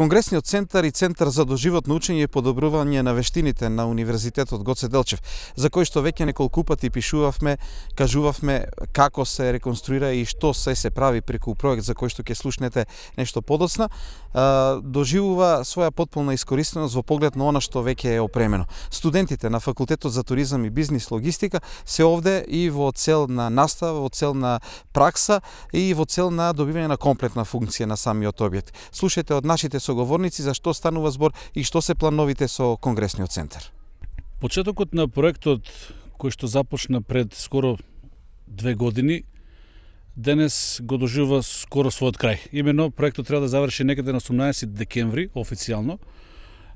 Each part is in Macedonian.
Конгресниот центар и Центар за доживотно учење и подобрување на вештините на Универзитетот Гоце Делчев, за кој што веќе неколку пати пишувавме, кажувавме како се реконструира и што се прави преку проект за кој што ќе слушнете нешто подоцна, доживува своја потполна искористеност во поглед на она што веќе е опремено. Студентите на Факултетот за туризам и бизнис логистика се овде и во цел на настава, во цел на пракса и во цел на добивање на комплетна функција на самиот објект. Слушајте од нашите соговорници за што станува збор и што се плановите со Конгресниот центар. Почетокот на проектот кој што започна пред скоро 2 години, денес го доживува скоро својот крај. Имено проектот треба да заврши некаде на 18 декември официјално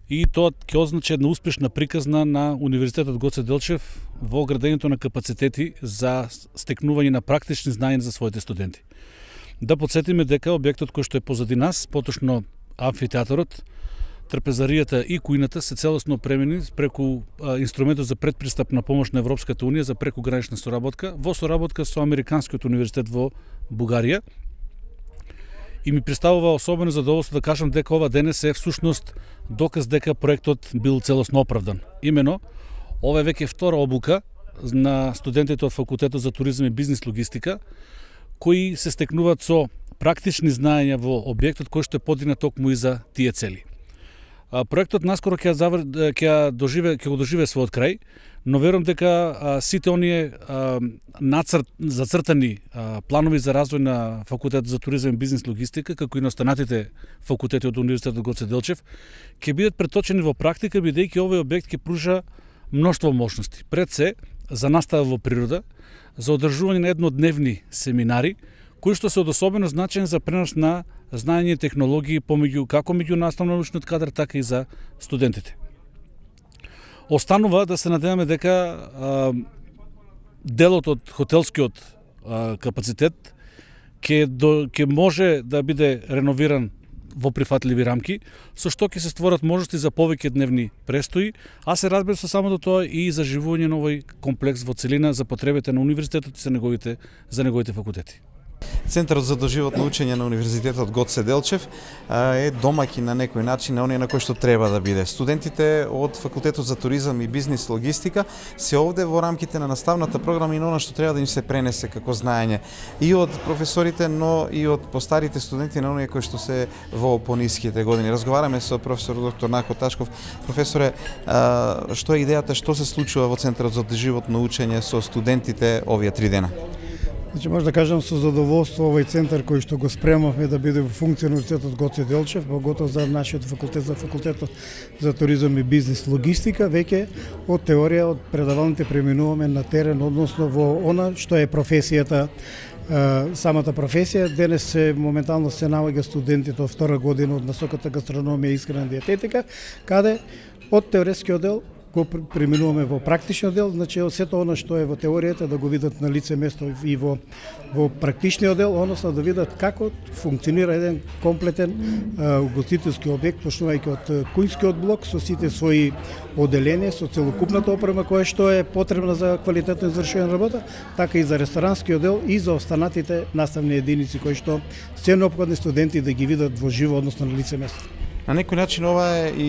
и тоа ќе означи една успешна приказна на Универзитетот Гоце Делчев во градењето на капацитети за стекнување на практични знаења за своите студенти. Да подсетиме дека објектот кој што е позади нас, поточно амфитеатарот, трпезаријата и кујната се целосно опремени преку инструментот за предпристапна помош на Европската унија за прекугранична соработка во соработка со Американскиот универзитет во Бугарија. И ми представува особено задоволство да кажам дека ова денес е всушност доказ дека проектот бил целосно оправдан. Имено, ова е веќе втора обука на студентите од Факултетот за туризам и бизнис логистика, кои се стекнуваат со практични знаења во објектот кој што е подигнат токму и за тие цели. Проектот наскоро ќе го доживее својот крај, но верувам дека сите оние зацртани планови за развој на Факултетот за туризам и бизнис логистика, како и на останатите факултети од Универзитетот Гоце Делчев, ќе бидат преточени во практика, бидејќи овој објект ќе пружа мноштво можности. Пред се за настава во природа, за одржување на еднодневни семинари, кои што се од особено значење за пренос на знаење и технологии како меѓу наставно-научниот кадар, така и за студентите. Останува да се надеваме дека делот од хотелскиот капацитет ќе може да биде реновиран во прифатливи рамки, со што ќе се створат можности за повеќе дневни престои, а се разбира со самото тоа и за живување на овој комплекс во целина за потребите на универзитетот и за неговите факултети. Центарот за доживотно учење на Универзитетот Гоце Делчев е домаќин на некој начин на оние на кој што треба да биде. Студентите од Факултетот за туризам и бизнис логистика се овде во рамките на наставната програма и на она што треба да им се пренесе како знаење и од професорите, но и од постарите студенти на оние кои што се во пониските години. Разговараме со професор доктор Нако Ташков. Професоре, што е идејата, што се случува во Центарот за доживотно учење со студентите овие 3 дена? Значи, може да кажам со задоволство овој центар кој што го спремавме да биде во функција на Универзитетот Гоце Делчев, поготово за нашиот факултет, за Факултетот за туризам и бизнис логистика, веќе од теорија, од предавалните преминуваме на терен, односно во она што е професијата, самата професија. Денес моментално се наоѓа студентите од втора година од насоката гастрономија и исхрана диететика, каде од теоретскиот дел го преминуваме во практичниот дел, значи сето она што е во теоријата да го видат на лице место и во практичниот дел, односно да видат како функционира еден комплетен угостителски објект, почнувајќи од кујнскиот блок со сите своји оделенија, со целокупната опрема која што е потребна за квалитетно извршување на работа, така и за ресторанскиот дел и за останатите наставни единици кои што се неопходни студенти да ги видат во живо, односно на лице место. На некој начин ова е и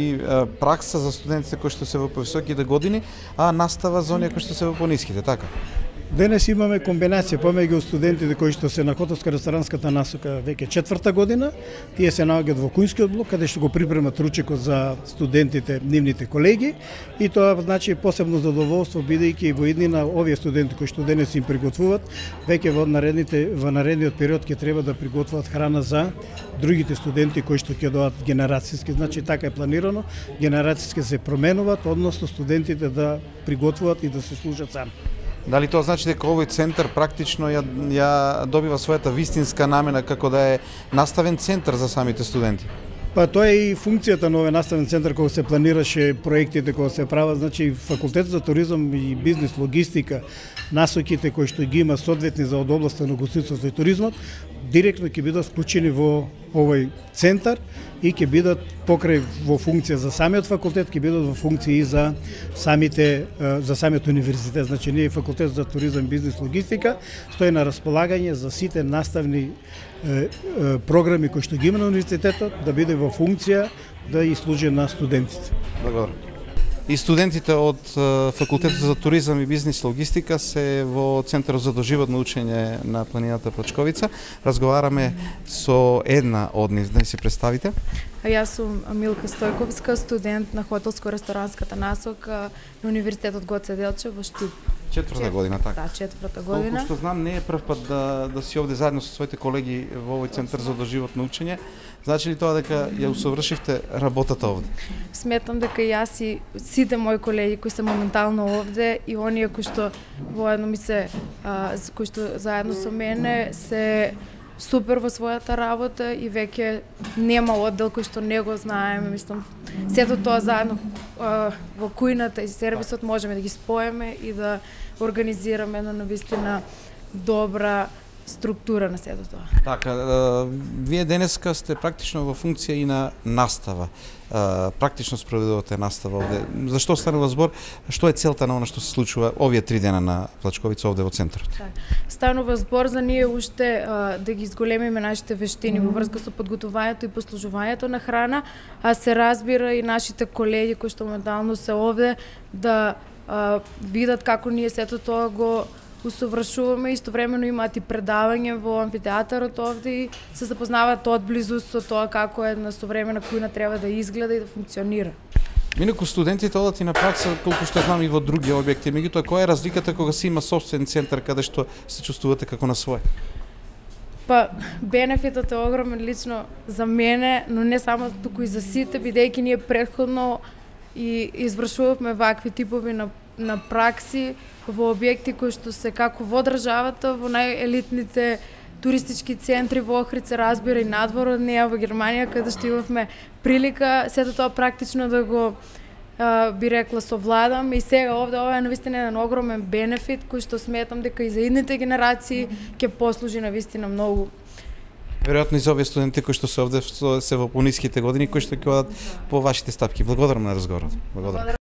пракса за студентите кои што се во повисоките години, а настава за оние кои што се во пониските, така? Денес имаме комбинација помеѓу студентите кои што се на хотелско-ресторанската насока веќе 4-та година, тие се наоѓаат во кујнскиот блок каде што го припремат ручекот за студентите, нивните колеги, и тоа значи посебно задоволство бидејќи во иднина овие студенти кои што денес им приготвуваат, веќе во наредниот период ќе треба да приготвуваат храна за другите студенти кои што ќе доаат генерацијски, значи така е планирано, генерацијски се променуваат, односно студентите да приготвуваат и да се служат сами. Дали тоа значи дека овој центар практично ја добива својата вистинска намена како да е наставен центар за самите студенти? Па тоа е и функцијата на овој наставен центар кога се планираше проектите кога се прават, значи Факултетот за туризам и бизнис логистика, насоките кои што ги има соодветни за од областа на гостителството и туризмот, директно ќе бидат вклучени во овој центар и ќе бидат покрај во функција за самиот факултет, ќе бидат во функција и за самиот универзитет. Значи, ние факултет за туризам, бизнис, логистика стои на располагање за сите наставни програми кои што ги има на универзитетот, да биде во функција да и служи на студентите. Добро. И студентите од факултетот за туризам и бизнис логистика се во Центарот за доживотно учење на планината Плачковица. Разговараме со една од нив, да се представите. Јас сум Милка Стојковска, студент на хотелско-ресторанската насока на Универзитетот Гоце Делчев во Штип. Четврта година, така. Да, четврта година. Колку што знам, не е прв пат да си овде заедно со своите колеги во овој Центар за доживотно учење. Значи ли тоа дека ја усовршивте работата овде? Сметам дека јас и сите мои колеги кои се моментално овде и оние кои што воедно кои што заедно со мене се супер во својата работа и веќе нема оддел кој што не го знаеме, мислам, сето тоа заедно во кујната и сервисот можеме да ги споеме и да организираме на навистина добра структура на сето тоа. Така, вие денеска сте практично во функција и на настава. Практично спроведувате настава овде. Зашто станува збор? Што е целта на она што се случува овие 3 дена на Плачковица овде во центарот? Станува збор за ние уште да ги изголемиме нашите вештини во врска со подготувањето и послужувањето на храна, а се разбира и нашите колеги кои што моментално се овде да видат како ние сето тоа го усовршуваме, истовремено имаат и предавање во амфитеатарот овде и се запознаваат одблизу со тоа како една современа кујна треба да изгледа и да функционира. Инаку студентите одат и на пракса, колку што знам и во други објекти, меѓутоа која е разликата кога се има сопствен центар каде што се чувствувате како на свој? Па, бенефитот е огромен лично за мене, но не само туку и за сите, бидејќи ние претходно и извршувавме вакви типови на пракси во објекти кои што се како во државата, во најелитните туристички центри во Охрид, разбира и надвор од неа во Германија, каде што имавме прилика сето тоа практично да го би рекла совладам и сега овде ова е навистина еден огромен бенефит кој што сметам дека и за идните генерации ќе послужи навистина многу. Веројатно и за овие студенти кои што се овде се во пониските години, кои што ќе одат по вашите стапки. Благодарам на разговорот. Благодарам.